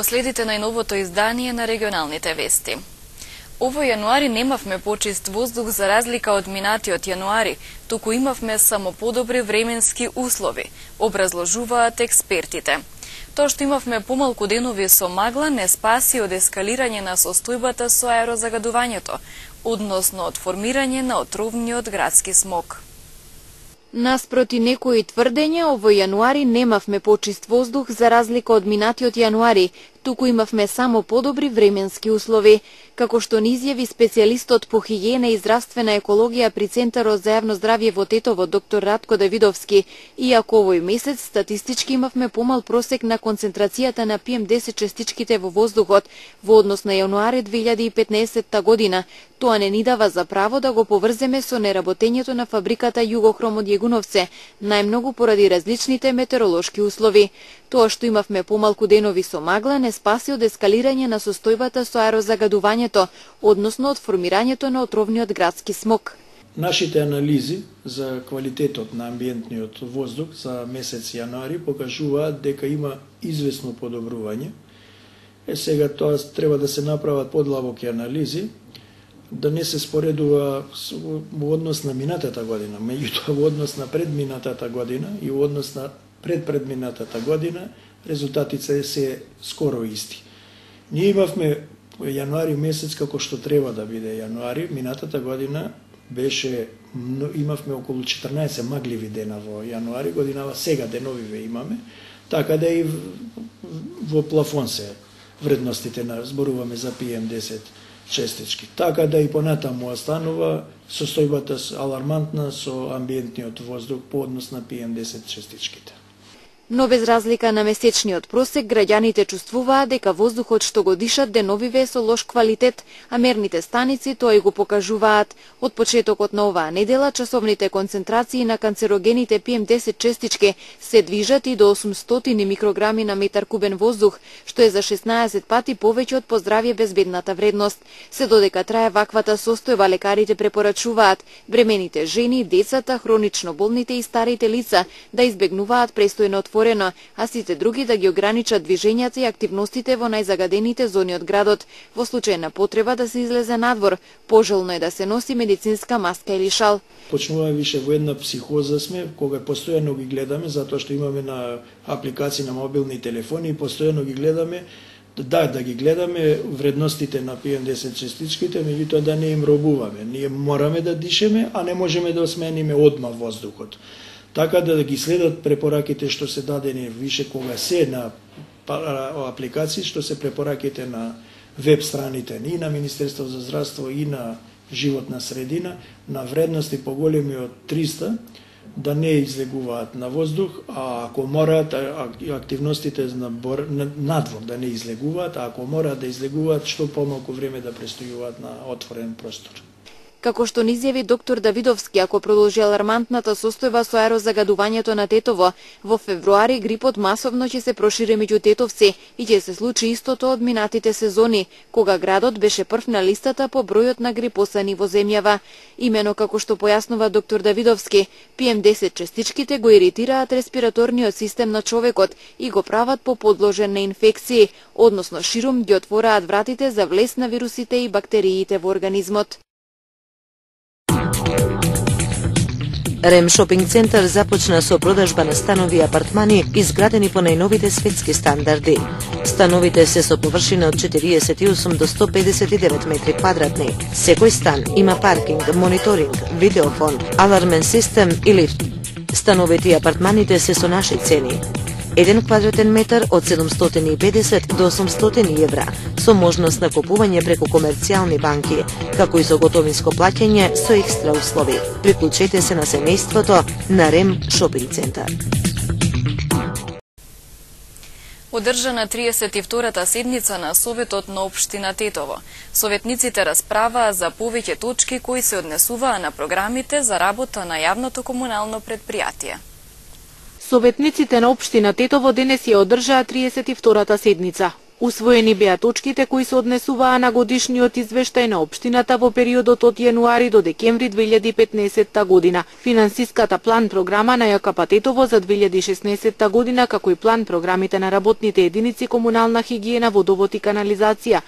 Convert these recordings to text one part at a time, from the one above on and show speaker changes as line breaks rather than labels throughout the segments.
следите најновото издание на регионалните вести. Овој јануари немавме почист воздух за разлика од минатиот јануари, туку имавме само подобри временски услови, образложуваат експертите. Тоа што имавме помалку денови со магла не спаси од ескалирање на состојбата со аерозагадувањето, односно од формирање на отровниот градски смог.
Наспроти некои тврдења, овој јануари немавме почист воздух за разлика од минатиот јануари, туку имавме само подобри временски услови. Како што ни изјави специјалистот по хигиена и здравствена екологија при Центарот за јавно здравје во Тетово, доктор Ратко Давидовски, иако овој месец статистички имавме помал просек на концентрацијата на PM10 честичките во воздухот во однос на јануари 2015 година, тоа не ни дава за право да го поврземе со неработењето на фабриката Југохром од Јегуновце, најмногу поради различните метеоролошки услови. Тоа што имавме помалку денови со магла не спаси од ескалирање на состојбата со аерозагадувањето, односно од формирањето на отровниот градски смог.
Нашите анализи за квалитетот на амбиентниот воздух за месец јануари покажуваат дека има известно подобрување. Сега тоа треба да се направат подлабоки анализи, да не се споредува во однос на минатата година, меѓутоа во однос на предминатата година и во однос на предпредминатата година, резултатите се скоро исти. Ние имавме јануари месец како што треба да биде јануари, минатата година имавме околу 14 магливи дена во јануари, годинава сега деновиве имаме, така да и во плафон се вредностите зборуваме за PM10 честички. Така да и понатаму останува состојбата алармантна со амбиентниот воздух по однос на PM10 честичките.
Но без разлика на месечниот просек, граѓаните чувствуваат дека воздухот што го дишат деновиве е со лош квалитет, а мерните станици тоа и го покажуваат. Од почетокот на оваа недела, часовните концентрации на канцерогените PM10 честички се движат и до 800 микрограми на метар кубен воздух, што е за 16 пати повеќе од по здравје безбедната вредност. Се додека трае ваквата состојба, лекарите препорачуваат бремените жени, децата, хронично болните и старите лица да избегнуваат престојно отворено, а сите други да ги ограничат движењата и активностите во најзагадените зони од градот. Во случај на потреба да се излезе надвор, пожелно е да се носи медицинска маска или шал.
Почнуваме више во една психоза сме, кога постојано ги гледаме, затоа што имаме на апликации на мобилни телефони и постојано ги гледаме, да ги гледаме вредностите на PM10 честичките, меѓутоа да не им робуваме. Ние мораме да дишеме, а не можеме да осмениме одма воздухот. Така да ги следат препораките што се дадени више кога се на апликации, што се препораките на веб страните и на Министерство за здравство и на животна средина, на вредности поголеми од 300, да не излегуваат на воздух, а ако мораат активностите на надвор да не излегуваат, а ако мораат да излегуваат, што помалку време да престојуваат на отворен простор.
Како што ни изјави доктор Давидовски, ако продолжи алармантната состојба со аерозагадувањето на Тетово, во февруари грипот масовно ќе се прошири меѓу тетовци и ќе се случи истото од минатите сезони, кога градот беше прв на листата по бројот на грипосани во земјава. Имено како што појаснува доктор Давидовски, PM10 честичките го иритираат респираторниот систем на човекот и го прават поподложен на инфекции, односно ширум ги отвораат вратите за влез на вирусите и бактериите во организмот.
Рем шопинг центар започна со продажба на станови и апартмани изградени по најновите светски стандарди. Становите се со површина од 48 до 159 метри квадратни. Секој стан има паркинг, мониторинг, видеофон, алармен систем и лифт. Становите и апартманите се со наши цени. 1 квадратен метар од 750 до 800 евра, со можност на купување преку комерцијални банки, како и со готовинско плаќање со екстра услови. Приклучете се на семејството на Рем шопинг центар.
Одржана 32-та седница на Советот на Општина Тетово. Советниците расправаа за повеќе точки кои се однесуваа на програмите за работа на јавното комунално предпријатие.
Советниците на Општина Тетово денес ја одржаа 32-та седница.
Усвоени беа точките кои се однесуваа на годишниот извештај на општината во периодот од јануари до декември 2015 година. Финансиската план програма на ЈКП Тетово за 2016 година, како и план програмите на работните единици комунална хигиена, водовод и канализација,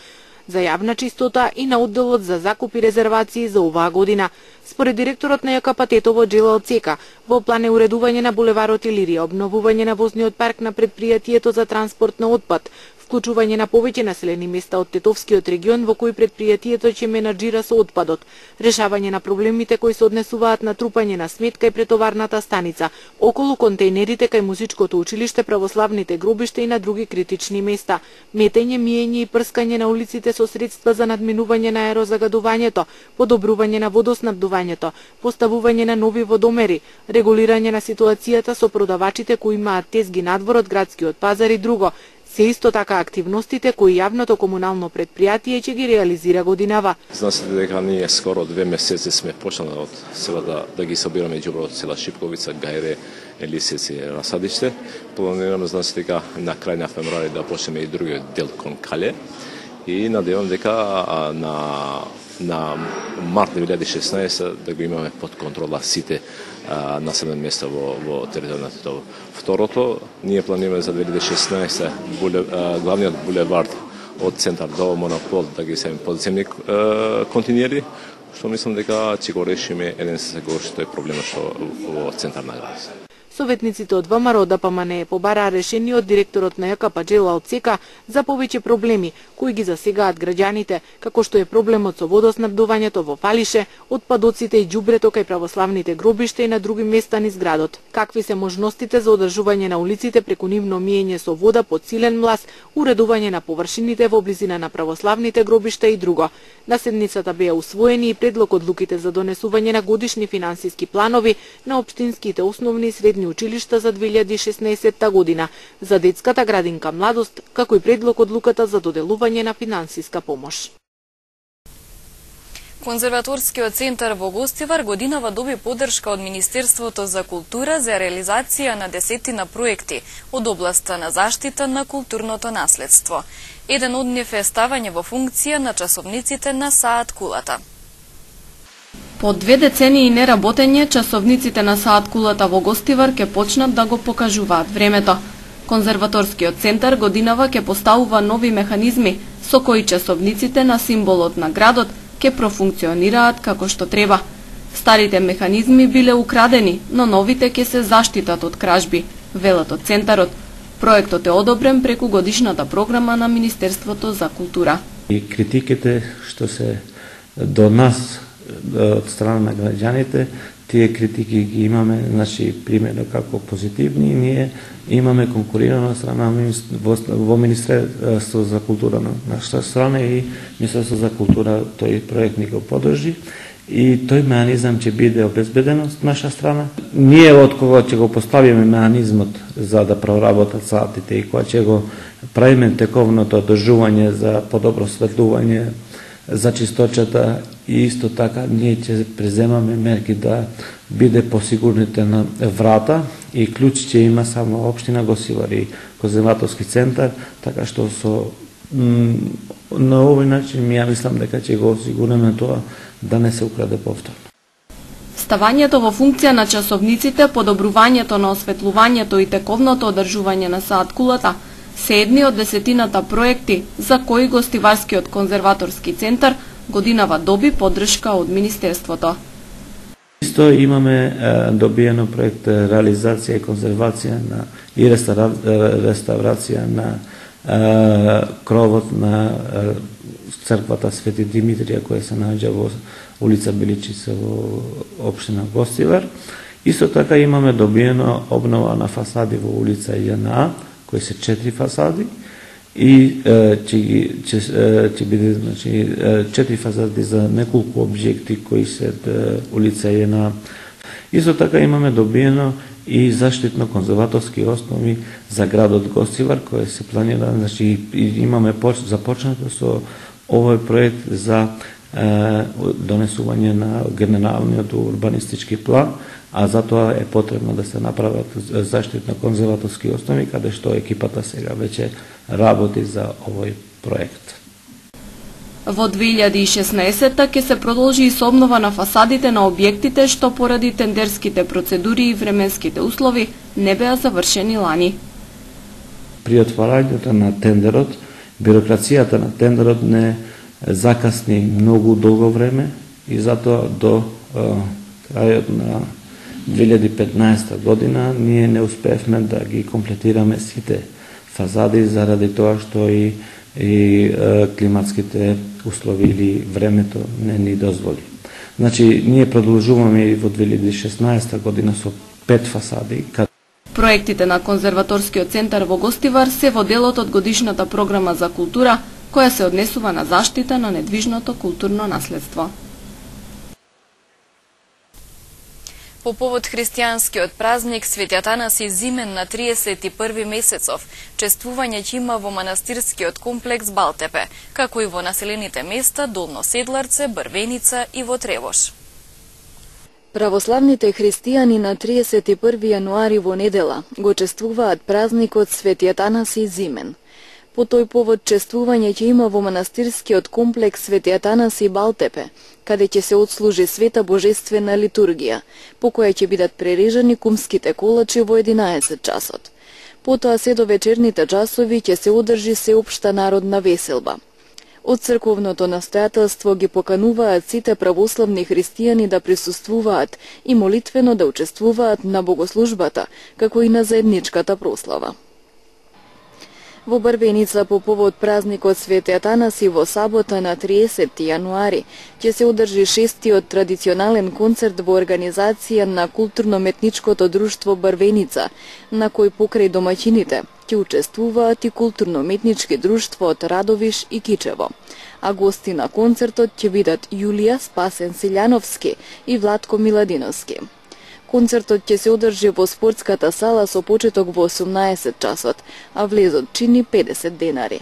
за јавна чистота и на одделот за закуп и резервации за оваа година. Според директорот на ЈКП Тетово Джелал Цека, во план е уредување на булеварот Илирија, обновување на возниот парк на предпријатието за транспорт на отпад, вклучување на повеќе населени места од Тетовскиот регион во кои предпријатието ќе менаџира со отпадот, решавање на проблемите кои се однесуваат на трупање на сметка и претоварната станица, околу контејнерите кај музичкото училиште, православните гробишта и на други критични места, метење, миење и прскање на улиците со средства за надминување на аерозагадувањето, подобрување на водоснабдувањето, поставување на нови водомери, регулирање на ситуацијата со продавачите кои имаат тезги надвор од градскиот пазар и друго. Се исто така активностите кои јавното комунално предпријатие ќе ги реализира годинава.
Знаете дека ние скоро 2 месеци сме почнали од селата да ги собираме ѓубро од села Шипковица, Гајре, Елисец и Расадиште. Планираме, знаете дека на крај на февруари да почнеме и другиот дел кон Кале. И надевам дека на март 2016 да го имаме под контрола сите населени места во територијата на Тетово. Второто, ние планираме за 2016 главниот булевард од центар до Монопол да ги ставиме подземни континери, што мислам дека ќе го решиме еден се што е проблемот што во центар на градот.
Советниците од ВМРО ДПМН побараа решение од директорот на ЈКП Джелал Цека за повеќе проблеми кои ги засегаат граѓаните, како што е проблемот со водоснабдувањето во Фалише, отпадоците и ѓубрето кај православните гробишта и на други места низ градот. Какви се можностите за одржување на улиците преку нивно миење со вода под силен млас, уредување на површините во близина на православните гробишта и друго. На седницата беа усвоени и предлог одлуките за донесување на годишни финансиски планови на општинските основни и средни училишта за 2016 година, за детската градинка Младост, како и предлог одлуката за доделување на финансиска помош.
Конзерваторскиот центар во Гостивар годинава доби поддршка од Министерството за култура за реализација на 10 проекти од областа на заштита на културното наследство. Еден од нив е ставање во функција на часовниците на Саат Кулата.
По 2 децении неработење, часовниците на Саат Кулата во Гостивар ќе почнат да го покажуваат времето. Конзерваторскиот центар годинава ќе поставува нови механизми со кои часовниците на символот на градот ќе профункционираат како што треба. Старите механизми биле украдени, но новите ќе се заштитат од кражби, велат од центарот. Проектот е одобрен преку годишната програма на Министерството за култура.
И критиките што се до нас од страна на граѓаните, тие критики ги имаме, значи, примерно како позитивни, ние имаме конкурирана страна во Министерство за култура на нашата страна и Министерство за култура тој проект ни го поддржи и тој механизам ќе биде обезбеден од наша страна. Ние од кога ќе го поставиме механизмот за да проработат саатите и кога ќе го правиме тековното одржување за подобро светлување, за чисточата и исто така ние ќе преземаме мерки да биде посигурните на врата и клjuč ќе има само општина Гостивар и конзерваторски центар, така што на овој начин ја мислам дека ќе го осигуриме тоа да не се украде повторно.
Ставањето во функција на часовниците, подобрувањето на осветлувањето и тековното одржување на Саат Кулата се едни од 10 проекти за кои Гостиварскиот конзерваторски центар годинава доби поддршка од Министерството.
Исто имаме добиено проект реализација и конзервација и реставрација на кровот на црквата Свети Димитрија која се наоѓа во улица Биличица во општина Гостивар. Исто така имаме добиено обнова на фасади во улица Јана, кои се 4 фасади и ќе биде, значи, 4 фасади за неколку објекти кои се улица Јана. Исто така имаме добиено и заштитно конзерваторски основи за градот Гостивар кој се планира, значи имаме започнато со овој проект за донесување на генералниот урбанистички план, а затоа е потребно да се направат заштитно-конзерваторски основи, каде што екипата сега веќе работи за овој проект.
Во 2016 ќе се продолжи и со обнова на фасадите на објектите што поради тендерските процедури и временските услови не беа завршени лани.
При отварањето на тендерот, бирократијата на тендерот не закасни многу долго време и затоа до крајот на 2015 година ние не успеевме да ги комплетираме сите фазади заради тоа што и климатските услови или времето не ни дозволи. Значи, ние продолжуваме и во 2016 година со 5 фасади.
Проектите на Конзерваторскиот центар во Гостивар се во делот од годишната програма за култура, која се однесува на заштита на недвижното културно наследство.
По повод христијанскиот празник Свети Атанаси Зимен на 31 месецов, чествување ќе има во манастирскиот комплекс Балтепе, како и во населените места Долно Седларце, Брвеница и во Тревош.
Православните христијани на 31 јануари во недела го чествуваат празникот Свети Атанаси Зимен. По тој повод чествување ќе има во манастирскиот комплекс Свети Атанаси Балтепе, каде ќе се отслужи света божествена литургија, по која ќе бидат прережани кумските колачи во 11 часот. Потоа се до вечерните часови ќе се одржи сеопшта народна веселба. Од црковното настојателство ги покануваат сите православни христијани да присуствуваат и молитвено да учествуваат на богослужбата, како и на заедничката прослава. Во Брвеница по повод празникот Свети Атанаси во сабота на 30 јануари ќе се одржи 6-тиот традиционален концерт во организација на културно-метничкото друштво Брвеница, на кој покрај домаќините ќе учествуваат и културно-метнички друштво од Радовиш и Кичево. А гости на концертот ќе бидат Јулија Спасен Силјановски и Владко Миладиновски. Концертот ќе се одржи во спортската сала со почеток во 18 часот, а влезот чини 50 денари.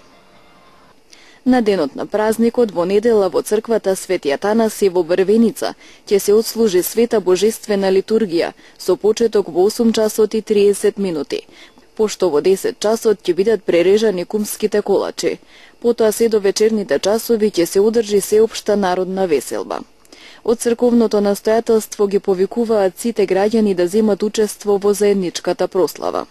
На денот на празникот во недела во црквата Свети Атанаси во Брвеница ќе се отслужи света божествена литургија со почеток во 8 часот и 30 минути, пошто во 10 часот ќе бидат прережани кумските колачи. Потоа се до вечерните часови ќе се одржи сеопшта народна веселба. Од црковното настојателство ги повикуваат сите граѓани да земат учество во заедничката прослава.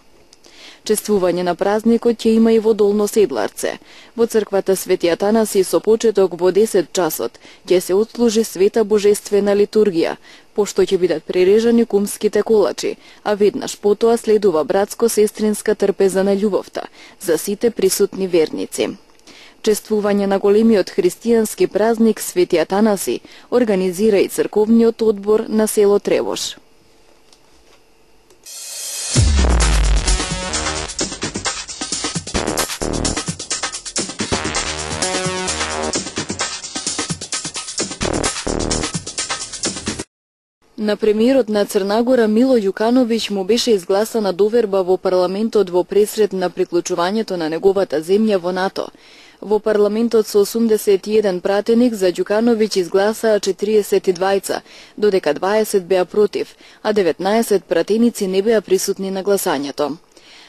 Чествување на празникот ќе има и во Долно Седларце. Во црквата Свети Атанаси со почеток во 10 часот ќе се отслужи света божествена литургија, пошто ќе бидат прережани кумските колачи, а веднаш потоа следува братско-сестринска трпеза на љубовта за сите присутни верници. Чествување на големиот христијански празник Свети Атанаси организира и црковниот одбор на село Тревош. На премиерот на Црнагора Мило Ѓукановиќ му беше изгласана доверба во парламентот во пресред на приклучувањето на неговата земја во НАТО. Во парламентот со 81 пратеник за Ѓукановиќ изгласаа 42, додека 20 беа против, а 19 пратеници не беа присутни на гласањето.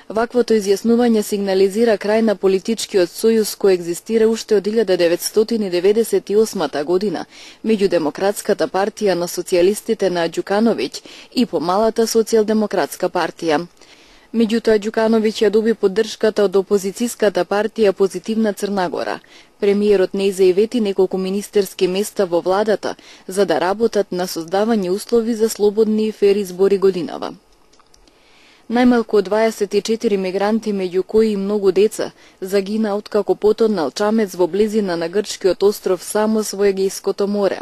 Ваквото изјаснување сигнализира крај на политичкиот сојуз кој екзистира уште од 1998 година меѓу Демократската партија на социјалистите на Ѓукановиќ и помалата Социјалдемократска партија. Меѓутоа Ѓукановиќ ја доби поддршката од опозицијската партија Позитивна Црнагора. Премиерот не зајавети неколку министерски места во владата за да работат на создавање услови за слободни и фер избори годинава. Најмалку 24 мигранти, меѓу кои и многу деца, загина откако потонал чамец во близина на грчкиот остров Самос во Егејското море.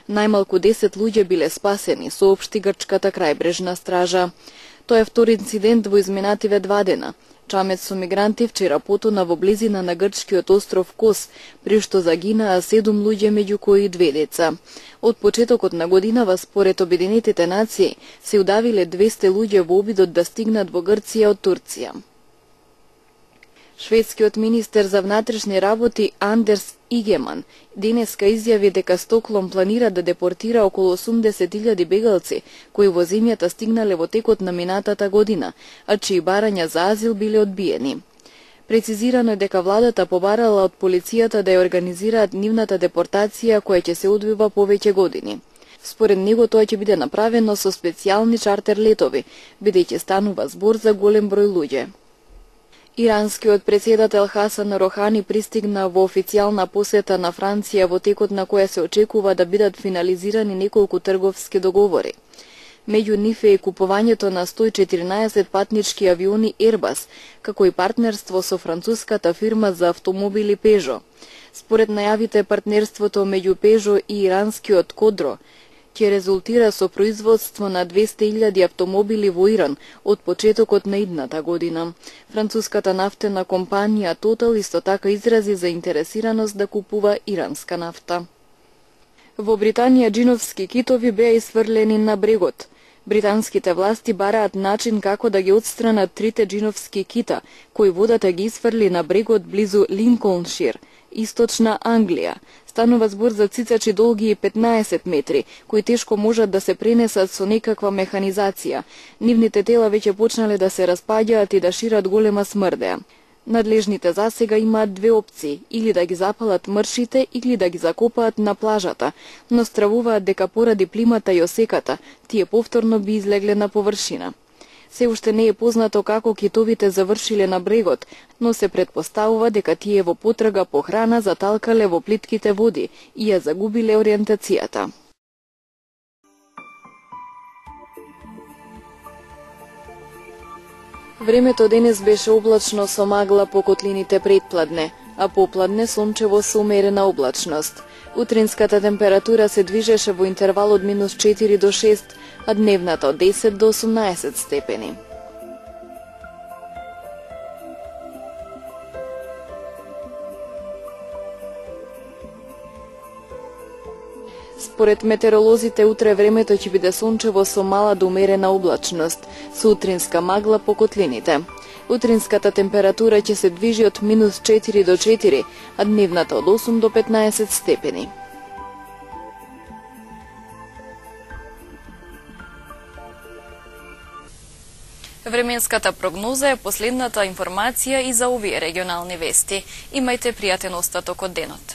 Најмалку 10 луѓе биле спасени, соопшти грчката крајбрежна стража. Тоа е втори инцидент во изминативе 2 дена. Чамец со мигранти вчера потона во близина на грчкиот остров Кос, при што загинаа 7 луѓе, меѓу кои 2 деца. Од почетокот на годинава, според Обединетите нации, се удавиле 200 луѓе во обидот да стигнат во Грција од Турција. Шведскиот министер за внатрешни работи Андерс Игеман денеска изјави дека Стокхолм планира да депортира околу 80.000 бегалци кои во земјата стигнале во текот на минатата година, а чии барања за азил биле одбиени. Прецизирано е дека владата побарала од полицијата да ја организираат нивната депортација која ќе се одвива повеќе години. Според него тоа ќе биде направено со специјални чартер летови, бидејќи станува збор за голем број луѓе. Иранскиот председател Хасан Рохани пристигна во официјална посета на Франција во текот на која се очекува да бидат финализирани неколку трговски договори. Меѓу нив е купувањето на 114 патнички авиони Airbus, како и партнерство со француската фирма за автомобили Peugeot. Според најавите, партнерството меѓу Peugeot и иранскиот Кодро ќе резултира со производство на 200.000 автомобили во Иран од почетокот на идната година. Француската нафтена компанија Total исто така изрази заинтересираност да купува иранска нафта. Во Британија џиновски китови беа исфрлени на брегот. Британските власти бараат начин како да ги отстранат 3 џиновски кита, кои водата ги исфрли на брегот близу Линколншир, источна Англија. Станува збор за цицачи долги 15 метри, кои тешко можат да се пренесат со некаква механизација. Нивните тела веќе почнале да се распаѓаат и да шират голема смрдеа. Надлежните засега имаат две опции, или да ги запалат мршите, или да ги закопаат на плажата, но стравуваат дека поради плимата и осеката, тие повторно би излегле на површина. Се уште не е познато како китовите завршиле на брегот, но се претпоставува дека тие во потрага по храна заталкале во плитките води и ја загубиле ориентацијата. Времето денес беше облачно со магла по котлините предпладне, а попладне сончево со умерена облачност. Утринската температура се движеше во интервал од -4 до 6, а дневната од 10 до 18 степени. Според метеоролозите, утре времето ќе биде сончево со мала до умерена облачност, со утринска магла по котлините. Утринската температура ќе се движи од -4 до 4, а дневната од 8 до 15 степени.
Временската прогноза е последната информација и за овие регионални вести. Имајте пријатен остаток од денот.